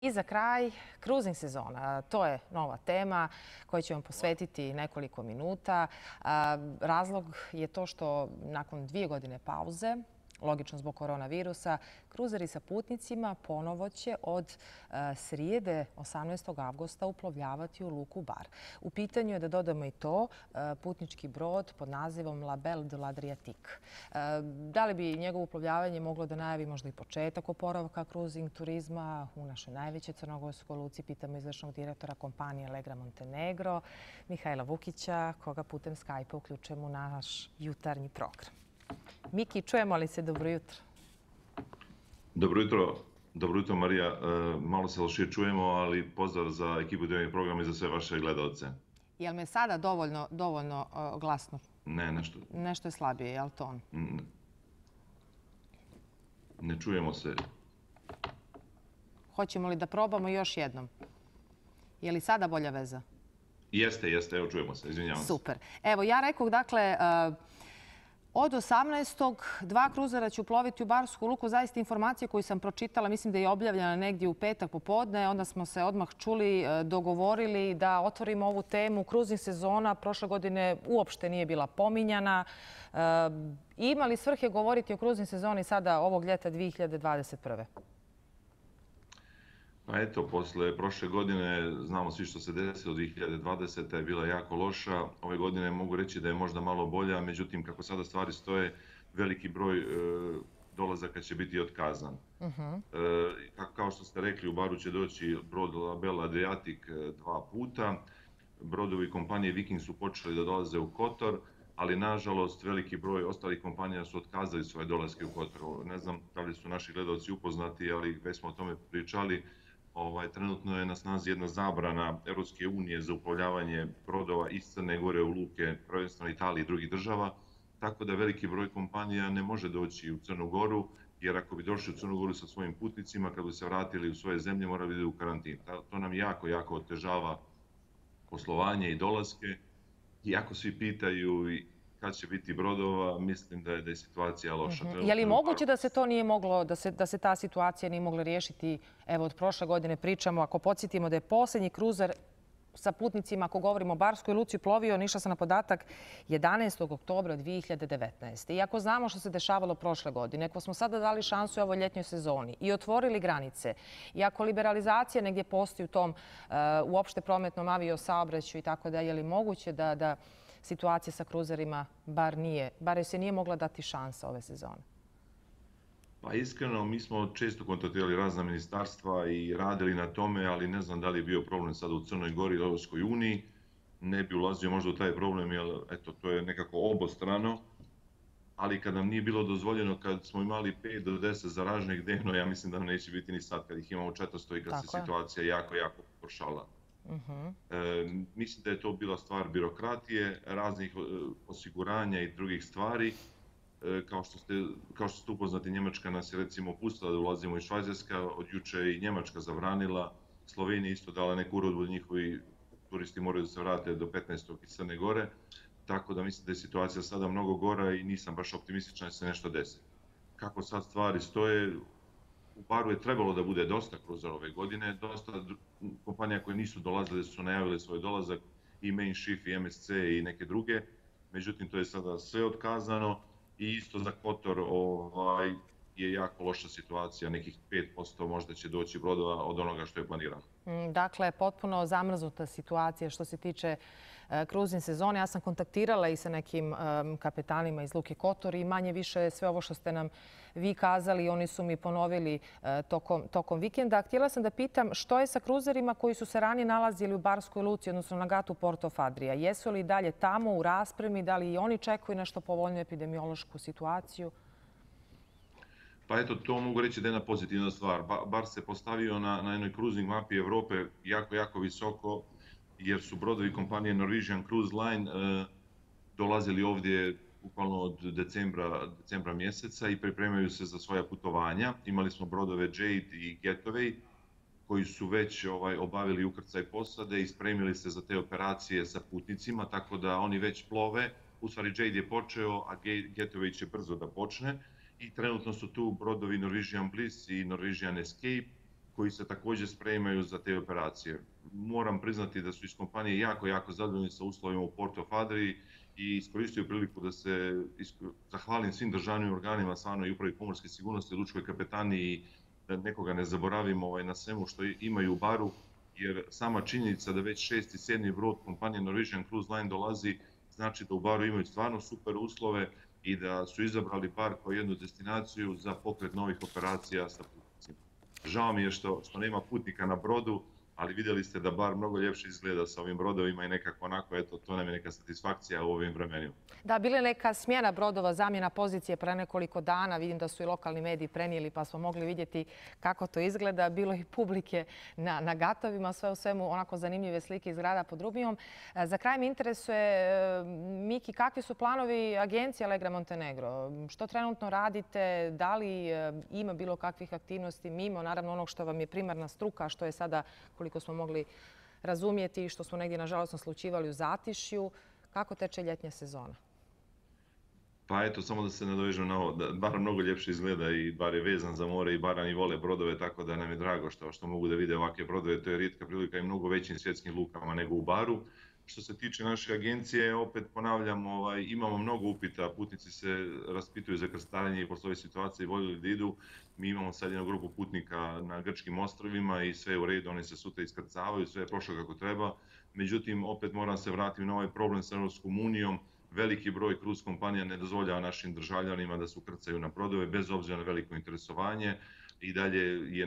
I za kraj, cruising sezona. To je nova tema koju ću vam posvetiti nekoliko minuta. Razlog je to što nakon 2 godine pauze, logično zbog koronavirusa, kruzeri sa putnicima ponovo će od srijede 18. avgusta uplovljavati u luku Bar. U pitanju je, da dodamo i to, putnički brod pod nazivom La Belle de l'Adriatique. Da li bi njegovo uplovljavanje moglo da najavi možda i početak oporavka kruzing turizma u našoj najvećoj crnogorskoj luci? Pitamo izvršnog direktora kompanije Legra Montenegro, Mihajla Vukića, koga putem Skype-a uključujemo u naš jutarnji program. Miki, čujemo li se? Dobro jutro. Dobro jutro Marija. Malo se lošije čujemo, ali pozdrav za ekipu dnevnih programa i za sve vaše gledalce. Je li me sada dovoljno glasno? Ne, nešto. Nešto je slabije, je li to on? Ne čujemo se. Hoćemo li da probamo još jednom? Je li sada bolja veza? Jeste, evo čujemo se, izvinjavam se. Super. Evo, ja rekoh, dakle, od 18. 2 kruzera će uploviti u Barsku luku. Zaista informacije koju sam pročitala, mislim da je objavljena negdje u petak popodne. Onda smo se odmah čuli, dogovorili da otvorimo ovu temu. Kruzing sezona prošle godine uopšte nije bila pominjana. Ima li svrhe govoriti o kruzing sezoni sada ovog ljeta 2021. Pa eto, posle prošle godine, znamo svi što se desilo, 2020. je bila jako loša. Ove godine mogu reći da je možda malo bolja, međutim, kako sada stvari stoje, veliki broj dolazaka će biti otkazan. Kao što ste rekli, u Baru će doći brod La Belle Adriatique 2 puta. Brodovi kompanije Viking su počeli da dolaze u Kotor, ali nažalost veliki broj ostalih kompanija su otkazali svoje dolaske u Kotor. Ne znam da li su naši gledalci upoznati, ali već smo o tome pričali. Trenutno je na snazi jedna zabrana Europske unije za uplovljavanje brodova iz Crne Gore u luke, prvenstveno Italije i drugih država, tako da veliki broj kompanija ne može doći u Crnu Goru, jer ako bi došli u Crnu Goru sa svojim putnicima, kad bi se vratili u svoje zemlje, morali bi ići u karantin. To nam jako otežava poslovanje i dolaske. Iako svi pitaju kad će biti brodova, mislim da je situacija loša. Je li moguće da se to nije moglo, da se ta situacija nije mogla riješiti? Evo, od prošle godine pričamo, ako podsjetimo da je posljednji kruzer sa putnicima, ako govorimo o Barskoj luci, plovio, išla sam na podatak, 11. oktobra 2019. Iako znamo što se dešavalo prošle godine, ako smo sada dali šansu ovoj ljetnjoj sezoni i otvorili granice, i ako liberalizacija negdje postoji u tom uopšte prometnom aviosaobraćaju i tako da, je li moguće da situacija sa kruzerima bar se nije mogla dati šansa ove sezone? Pa iskreno, mi smo često kontaktirali razna ministarstva i radili na tome, ali ne znam da li je bio problem sada u Crnoj Gori i Europskoj uniji. Ne bi ulazio možda u taj problem, jer eto, to je nekako obostrano. Ali kad nam nije bilo dozvoljeno, kad smo imali 5 do 10 zaraženih dnevno, ja mislim da nam neće biti ni sad kad ih imamo 400 i kad se situacija jako pogoršala. Mislim da je to bila stvar birokratije, raznih osiguranja i drugih stvari. Kao što ste upoznati, Njemačka nas je recimo pustila da ulazimo iz Švajcarska, od juče i Njemačka zabranila, Slovenija isto dala neku uredbu da njihovi turisti moraju da se vrate do 15. iz Crne Gore, tako da mislim da je situacija sada mnogo gora i nisam baš optimističan da se nešto desi. Kako sad stvari stoje, u Baru je trebalo da bude dosta kruzera ove godine, dosta kompanija koje nisu dolazile su najavile svoj dolazak, i Mein Schiff i MSC i neke druge, međutim to je sada sve otkazano. I isto za Kotor je jako loša situacija, nekih 5% možda će doći brodova od onoga što je planirano. Dakle, potpuno zamrznuta situacija što se tiče kruzing sezone. Ja sam kontaktirala i sa nekim kapetanima iz luke Kotor i manje više sve ovo što ste nam vi kazali, oni su mi ponovili tokom vikenda. Htjela sam da pitam što je sa kruzerima koji su se ranije nalazili u Barskoj luci, odnosno na gatu Porto Fadrija. Jesu li dalje tamo u raspremi? Da li i oni čekuju nešto povoljniju epidemiološku situaciju? Pa eto, to mogu reći da je jedna pozitivna stvar. Bar se postavio na jednoj kruzing mapi Evrope jako visoko, jer su brodovi kompanije Norwegian Cruise Line dolazili ovdje bukvalno od decembra mjeseca i pripremaju se za svoja putovanja. Imali smo brodove Jade i Getaway koji su već obavili ukrcaj posade i spremili se za te operacije sa putnicima, tako da oni već plove. U stvari Jade je počeo, a Getaway će brzo da počne. I trenutno su tu brodovi Norwegian Bliss i Norwegian Escape koji se također spremaju za te operacije. Moram priznati da su iz kompanije jako zadovoljni sa uslovima u Porto Fadri i iskoristio priliku da se zahvalim svim državnim organima, stvarno i upravi pomorske sigurnosti, lučkoj kapetaniji, da nekoga ne zaboravimo na svemu što imaju u Baru, jer sama činjenica da već 6. i 7. brod kompanije Norwegian Cruise Line dolazi, znači da u Baru imaju stvarno super uslove i da su izabrali Bar kao jednu destinaciju za pokret novih operacija sa putnicima. Žao mi je što nema putnika na brodu, ali vidjeli ste da Bar mnogo ljepše izgleda sa ovim brodovima i nekako onako, eto, to nam je neka satisfakcija u ovim vremenima. Da, bila je neka smjena brodova, zamjena pozicije pre nekoliko dana. Vidim da su i lokalni mediji prenijeli pa smo mogli vidjeti kako to izgleda. Bilo je i publike na gatovima, sve u svemu onako zanimljive slike iz grada pod Rubijom. Za kraj me interesuje, Miki, kakvi su planovi agencije Allegra Montenegro? Što trenutno radite? Da li ima bilo kakvih aktivnosti mimo, naravno onog što vam je primarna struka, što je sada, koliko smo mogli razumjeti i što smo negdje nažalost naslućivali u Zatišju? Kako teče ljetnja sezona? Pa eto, samo da se nadovežem na ovo, da Bar mnogo ljepše izgleda i Bar je vezan za more i Barani vole brodove, tako da nam je drago što mogu da vide ovakve brodove. To je rijetka prilika i mnogo većim svjetskim lukama nego u Baru. Što se tiče naše agencije, opet ponavljam, imamo mnogo upita, putnici se raspituju za krstarenje i posle ove situacije voljeli da idu. Mi imamo sad jednu grupu putnika na grčkim ostrvima i sve je u redu, oni se sutra iskrcavaju, sve je prošlo kako treba. Međutim, opet moram se vratiti na ovaj problem sa Europskom unijom. Veliki broj kruz kompanija ne dozvoljava našim državljanima da se ukrcaju na brodove bez obzira na veliko interesovanje. I dalje je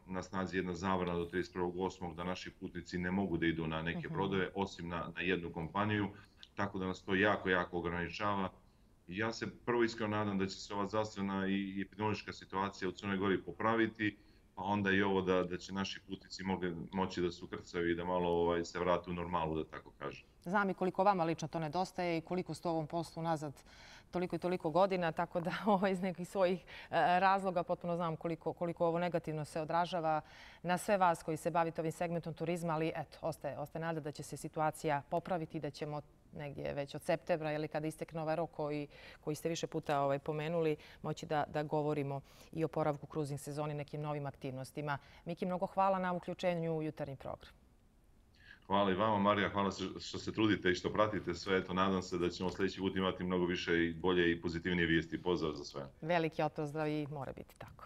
na snazi jedna zabrana do 31.8. da naši putnici ne mogu da idu na neke brodove, osim na jednu kompaniju, tako da nas to jako ograničava. Ja se prvo iskreno nadam da će se ova zdravstvena i epidemiološka situacija u Crnoj Gori popraviti, pa onda i ovo da će naši putnici moći da se ukrcaju i da malo se vrate u normalu, da tako kažem. Znam i koliko vama lično to nedostaje i koliko ste u ovom poslu nazad toliko i toliko godina, tako da iz nekih svojih razloga potpuno znam koliko ovo negativno se odražava na sve vas koji se bavite ovim segmentom turizma, ali eto, ostaje nada da će se situacija popraviti i da ćemo negdje već od septembra ili kada istekne ovaj rok koji ste više puta pomenuli, moći da govorimo i o oporavku kruzing sezoni, nekim novim aktivnostima. Miki, mnogo hvala na uključenju u jutarnji program. Hvala i vama, Marija, hvala što se trudite i što pratite sve. Eto, nadam se da ćemo sljedeći put imati mnogo više i bolje i pozitivnije vijesti. Pozdrav za sve. Veliki pozdrav i mora biti tako.